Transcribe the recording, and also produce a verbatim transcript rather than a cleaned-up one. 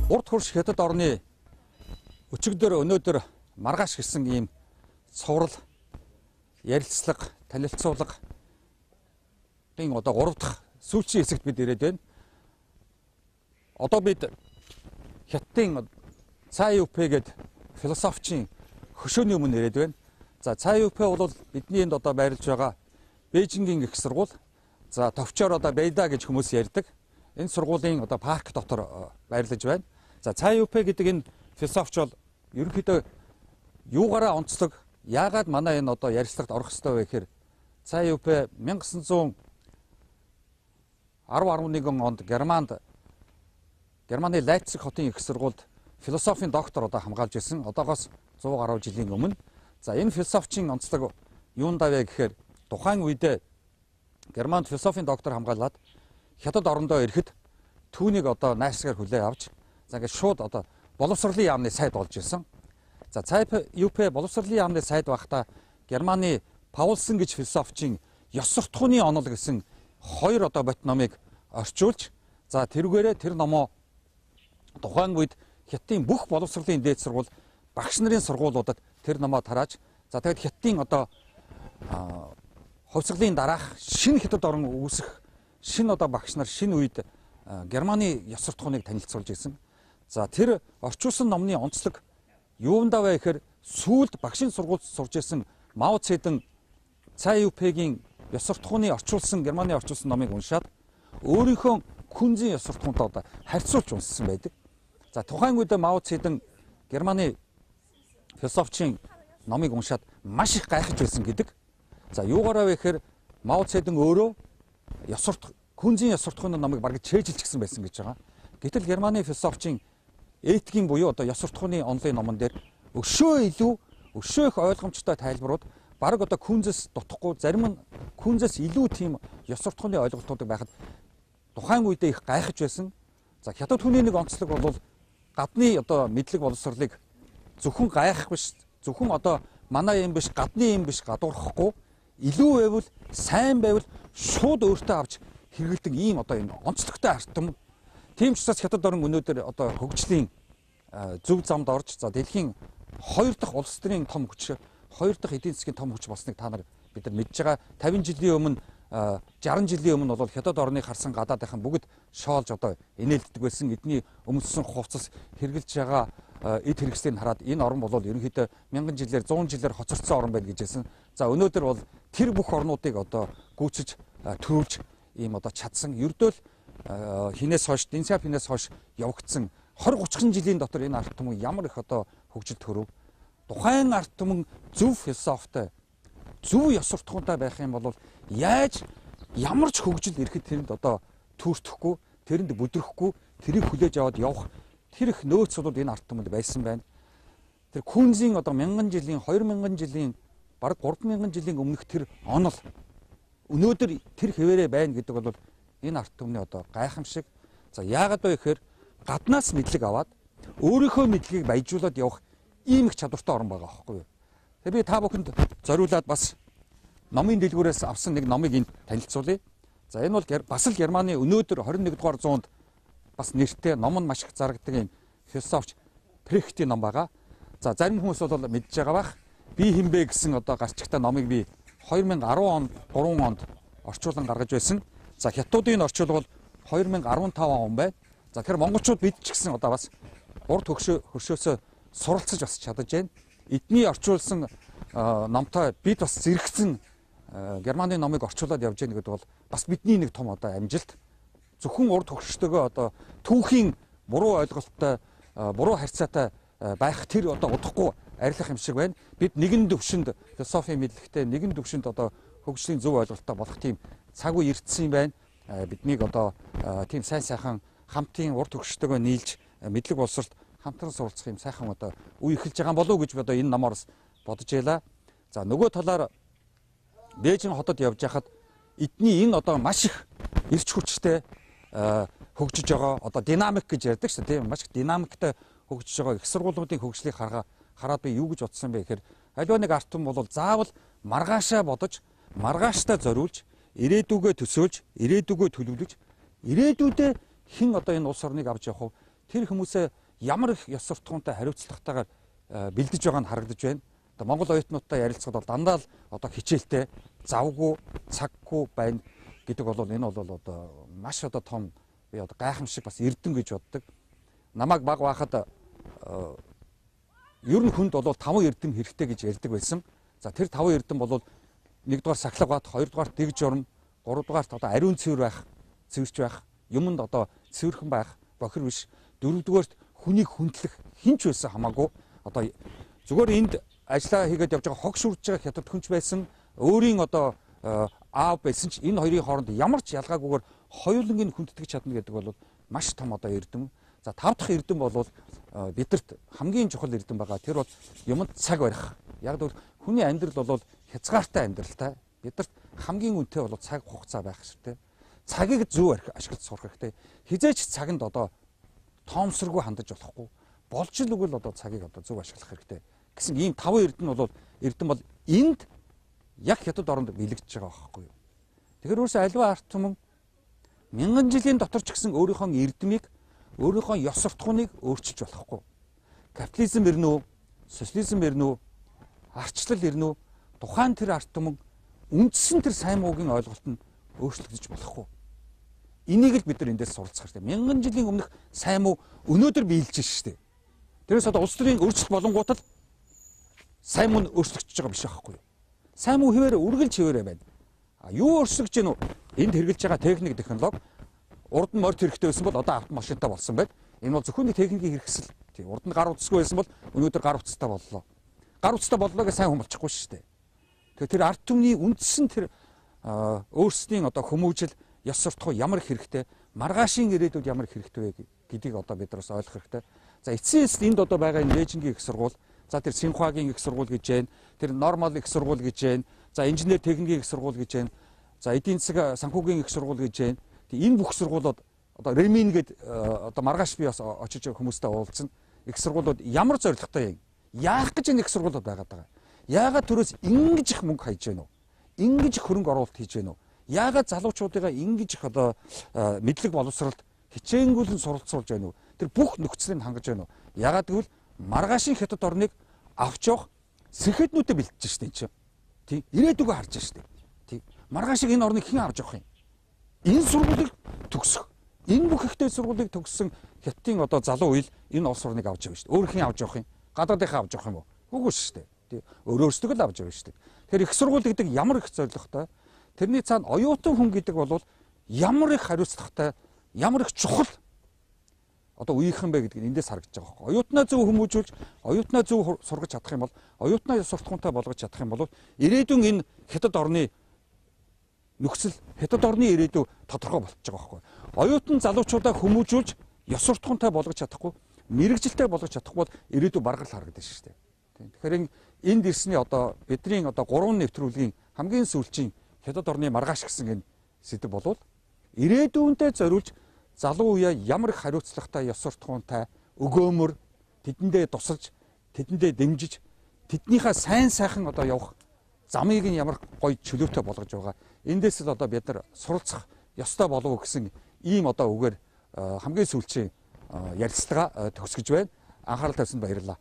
урд хурш хятад орны өчигдөр өнөөдөр маргааш гэсэн ийм цуврал ярилцлага танилцуулга тийм одоо гурав дахь сүүлчийн хэсэгт бид ирээд байна. Одоо бид Хятадын Цай Юпэ гэдэг философичийн хөшөөний өмнө ирээд байна. За Цай Юпэ бол бидний энд одоо байрлаж байгаа Бээжингийн их сургууль. За товчоор одоо Бэйда гэж хүмүүс ярьдаг. Энэ сургуулийн одоо парк дотор байрлаж байна. За Цай Юпэ гэдэг энэ философич бол ерөнхийдөө юугаараа онцлог, яагаад манай энэ одоо ярилцлагад орох ёстой вэ гэхээр Цай Юпэ мянга гэсэн зуун арав арван нэгэн онд Германд Германы Лайпциг хотын их сургуульд философийн доктор одоо хамгаалж байсан. Одоогоос зуун гаруй жилийн өмнө. За энэ философичийн онцлог юунд авэ гэхээр тухайн үедээ Германд философийн доктор хамгаалаад Хятад орондоо ирэхэд түүнийг одоо найрсгаар хүлээ авч за ингээд шууд одоо боловсролын яамны сайд болж ирсэн. За Цай Юпэ боловсролын яамны сайд байхдаа Германы Паулсон гэж философичийн ёс суртахууны онол гэсэн хоёр одоо бот номыг орчуулж за тэрүүгээрээ тэр номоо тухайн үед Хятадын бүх боловсролын дээд сургууль багш нарын сургуулиудад тэр номоо тарааж за тэгээд Хятадын одоо хувьсгалын дараах шинэ Хятад орн үүсэх шинэ одоо багш нар шинэ үед Германы ёс суртахууныг танилцуулж ирсэн. За тэр орчуулсан номны онцлог юундаа вэ гэхээр сүүлд багшийн сургуульд сурж ирсэн Мао Цзэдун Цай Юпэгийн ёс суртахууны орчуулсан Германы орчуулсан номыг уншаад өөрийнхөө күнзийн ёс суртахуунтай одоо харьцуулж унссан байдаг. За тухайн үед Мао Цзэдун Германы философичийн номыг уншаад маш их гайхаж байсан гэдэг. За юугаараа вэ гэхээр Мао Цзэдун өөрөө ёс суртах күнзийн ёс суртахууны номыг бараг чэйжилчихсэн байсан гэж байгаа. Гэтэл Германы философичийн этикийн буюу одоо ёс суртахууны онлын номон дээр өшөө илүү өшөө их ойлгомжтой тайлбарууд бараг одоо күнзэс дутхгүй зарим нь күнзэс илүү тийм ёс суртахууны ойлголтууд байхад тухайн үедээ их гайхаж байсан. За Хятад хүний нэг онцлог бол гадны одоо мэдлэг боловсролыг зөвхөн гайхах биш, зөвхөн одоо манай юм биш, гадны юм биш гадуурхахгүй илүү байвал сайн байвал шууд өөртөө авч хэрэгэлдэг ийм одоо энэ онцлогтой артам. Тийм ч учраас Хятад орн өнөөдөр одоо хөгжлийн зөв замд орж за дэлхийн хоёр дахь улс төрийн том хүч, хоёр дахь эдийн засгийн том хүч болсныг та нар бид нар мэдж байгаа. тавин жилийн өмнө жарган жилийн өмнө бол Хятад орны харсан гадаадынхан бүгд шоолж одоо инээлддэг байсан. Эдний өмссөн хувцас хэрглэж байгаа эд хэрэгслийг хараад энэ орн бол ерөнхийдөө мянган жилээр зуун жилээр хоцорсон орн байна гэж хэлсэн. За өнөөдөр бол тэр бүх орнуудыг одоо гүйцэж төрүүлж ийм одоо чадсан. Ердөө л хинээс хойш, Дэнсяп хинээс хойш явагдсан двадцать тридцать жилийн дотор энэ арт түмэн ямар их одоо хөгжилд төрөв. Тухайн арт түмэн зөв философитой, зөв ёс суртахуунтай байх юм бол яаж ямар ч хөгжил ирэхэд тэрэнд одоо түүртэхгүй, тэрэнд бүдрэхгүй, тэрийг хүлээж аваад явах тэр их нөөц бол энэ арт түмэнд байсан байна. Тэр күнзийн одоо мянган жилийн, хоёр мянган жилийн, бараг гурван мянган жилийн өмнөх тэр онол өнөөдөр тэр хэвээрээ байна гэдэг бол энэ арт түмний одоо гайхамшиг. За яагаад вэ гэхээр гаднаас мэдлэг аваад өөрийнхөө мэдлэгийг баяжуулаад явах ийм их чадвартай орн байгаа байхгүй юу. Тэгээ би та бүхэнд зориулаад бас номын дэлгүүрээс авсан нэг номыг энд танилцуулъя. За энэ бол бас л Германы өнөөдөр двадцать нэгдүгээр дугаар зуунд бас нэртэй ном нь маш их зарагддаг юм философич Прехтийн ном байгаа. За зарим хүмүүс бол мэдж байгаа бах. Би хинбэ гэсэн одоо гарчигтай номыг би две тысячи десять онд гурван онд орчуулан гаргаж байсан. За Хятадын орчуулга бол две тысячи петнадцать он байна. За тэгэхээр монголчууд бид ч гэсэн одоо бас урд хөршөө хөршөөсөө суралцаж бас чадаж байна. Эдний орчуулсан номтой бид бас зэрэгцэн Германы номыг орчуулад явж байгаа гэдэг бол бас бидний нэг том одоо амжилт. Зөвхөн урд хөрштөгөө одоо түүхийн буруу ойлголттой, буруу харьцаатай байх тэр одоо удахгүй арилах юм шиг байна. Бид нэгэн төвшөнд философийн мэдлэгтэй, нэгэн төвшөнд одоо хөгжлийн зөв ойлголттой болох тийм цаг үе ирдсэн юм байна. Биднийг одоо тийм сайн сайхан хамтын урд хөрштөгөө нийлж мэдлэг боловсролд хамтран суралцах юм сайхан одоо үе эхэлж байгаа болов уу гэж одоо энэ номоос бодож байлаа. За нөгөө талаар Бээжин хотод явж хахад эдний энэ одоо маш их эрч хүчтэй хөгжиж байгаа одоо динамик гэж ярьдаг шүү дээ. Маш их динамиктай хөгжиж байгаа их сургуулиудын хөгжлийг хараа хараад би юу гэж бодсон бэ гэхээр аливаа нэг арт түмэн бол заавал маргаашаа бодож, маргааштай зориулж, ирээдүгөө төсөөлж, ирээдүгөө төлөвлөж, ирээдүйдээ хэн одоо энэ улс орныг авч явах вэ? тэр хүмүүсээ ямар их ёс суртахуунтай хариуцлагатайгаар бэлдэж байгаа нь харагдаж байна. Одоо Монгол оюутнуудтай ярилцахад бол дандаа л одоо хичээлтэй завгүй цаггүй байна гэдэг бол энэ бол одоо маш одоо том би одоо гайхамшиг бас эрдэм гэж боддог. Намайг баг байхад ер нь хүнд бол таван эрдэм хэрэгтэй гэж ярьдаг байсан. За тэр таван эрдэм бол нэгдүгээр сахилга бат, хоёрдугаар дэг журам, гуравдугаарт одоо ариун цэвэр байх, цэвэрч байх, юмд одоо цэвэрхэн байх, бохир биш. Дөрөвдүгээрт хүнийг хүндлэх хинч байсан хамаагүй. Одоо зүгээр энд ажиллаа хийгээд явж байгаа хог шүрж байгаа хятад хүнч байсан, өөрийн одоо аав байсан ч энэ хоёрын хооронд ямар ч ялгаагүйгээр хоёулангийн хүндэтгэж чадна гэдэг бол маш том одоо эрдэм. За тав дахь эрдэм бол бидэрт хамгийн чухал эрдэм байгаа. Тэр бол юмд цаг барих. Яг л хүний амьдрал бол хязгаартай амьдралтай. Бидэрт хамгийн үнэтэй бол цаг хугацаа байх хэрэгтэй. Цагийг зөв ашиглаж сурах хэрэгтэй. Хизээч цаганд одоо тоомсоргүй хандаж болохгүй. Болж л үгүй л одоо цагийг одоо зөв ашиглах хэрэгтэй гэсэн ийм таван эрдэм бол эрдэм бол энд яг хятад оронд бэлэгдэж байгаа байхгүй юу. Тэгэхээр өөрөөсөө альва арт түмэн мянган жилийн дотор ч гэсэн өөрийнхөө эрдмийг, өөрийнхөө ёс суртахууныг өөрчилж болохгүй. Капитализм ирнэ үү, социализм ирнэ үү, арчлал ирнэ үү, тухайн тэр арт түмэн үндсэн тэр сайн муугийн ойлголт нь өөрчлөгдөж болохгүй. Энийг л бид нар эндээс суралцах хэрэгтэй. Мянган жилийн өмнөх сайн муу өнөөдөр биелж штэ. Тэрээс одоо улс төрийн өөрчлөлт болонгууд л сайн муу өөрчлөгдөж байгаа биш байхгүй юу? Сайн муу хэвээр үргэлж хэвээрээ байна. А юу өөрчлөгдөж гэнэ үү? Энд хэрэгжилж байгаа техник технологи урд нь морд хэрэгтэй байсан бол одоо автомашинтай болсон байна. Энэ бол зөвхөн техникийн хэрэгсэл. Тийм урд нь гар утасгүй байсан бол өнөөдөр гар утастай боллоо. Гар утастай боллоо гэж сайн хүн болчихгүй шүү дээ. Тэгэхээр тэр арт түмний үндсэн тэр өөрсдийн одоо хүмүүжил, ёс суртахуун ямар их хэрэгтэй, маргаашийн ирээдүйд ямар их хэрэгтэй вэ гэдгийг одоо бид нараас ойлгох хэрэгтэй. За эцсийн эст энд одоо байгаа энэ Лежингийн их сургууль, за тэр Синхуагийн их сургууль гэж байна, тэр Нормал их сургууль гэж байна, за инженер техникийн их сургууль гэж байна, за эдийн засаг санхүүгийн их сургууль гэж байна. Энэ бүх сургуулиуд одоо Ремин гээд одоо маргааш би бас очиж хүмүүстэй уулзсан. Их сургуулиуд ямар зорилготой юм? Яах гэж энэ их сургуулиуд байгаад байгаа? Яагаад төрөөс ингэж их мөнгө хайж байна уу? Ингэж их хөрөнгө оруулалт хийж байна уу? Яагаад залуучуудыгаа ингэж их одоо мэдлэг боловсролд хичээнгүйлэн суралцуулж байна уу? Тэр бүх нөхцөлийг хангаж байна уу? Яагаад гэвэл маргаашийн хятад орныг авч явах сэхэднүүдэд бэлтэж штэ энэ чинь. Тий. Ирээдүгөө харж штэ. Тий. Маргаашийг энэ орныг хэн авч явах юм? Энэ сургуулийг төгсөх. Энэ бүх ихтэй сургуулийг төгссөн хятадын одоо залуу үйл энэ улс орныг авч явна штэ. Өөр хэн авч явах юм? Гадаадынхаа авч явах юм уу? Үгүй штэ. Тий. Өөрөөсдөг л авч явна штэ. Тэгэхээр их сургууль гэдэг ямар их зорилготой. Тэрний цаана оюутан хүн гэдэг бол ямар их хариуцлагатай, ямар их чухал одоо үеийнхэн бэ гэдгийг эндээс харагдаж байгаа байхгүй. Оюутнаа зөв хүмүүжүүлж, оюутнаа зөв сургаж чадах юм бол, оюутнаа ёс суртахуунтай болгож чадах юм бол ирээдүйн энэ хятад орны нөхцөл, хятад орны ирээдүй тодорхой болчихж байгаа байхгүй. Оюутан залуучуудаа хүмүүжүүлж, ёс суртахуунтай болгож чадахгүй, мэрэгжилтэй болгож чадахгүй бол ирээдүй баргал харагдаж шүү дээ. Тэгэхээр энд ирсний одоо бидний одоо гурван нэвтрүүлгийн хамгийн сүүлчийн хятад орны маргааш гэсэн энэ сэдв болвол ирээдүйнтэй зориулж залуу үеэ ямар их хариуцлагатай, ёс суртахуунтай, өгөөмөр тэдэндээ тусалж, тэдэндээ дэмжиж, тэднийхээ сайн сайхан одоо явах замыг нь ямар гоё чөлөөтэй болгож байгаа. Эндээс л одоо бид нар суралцах ёстой болов уу гэсэн ийм одоо үгээр хамгийн сүүлчийн ярилцлага төгсгөж байна. Анхаарал тавьсанд баярлалаа.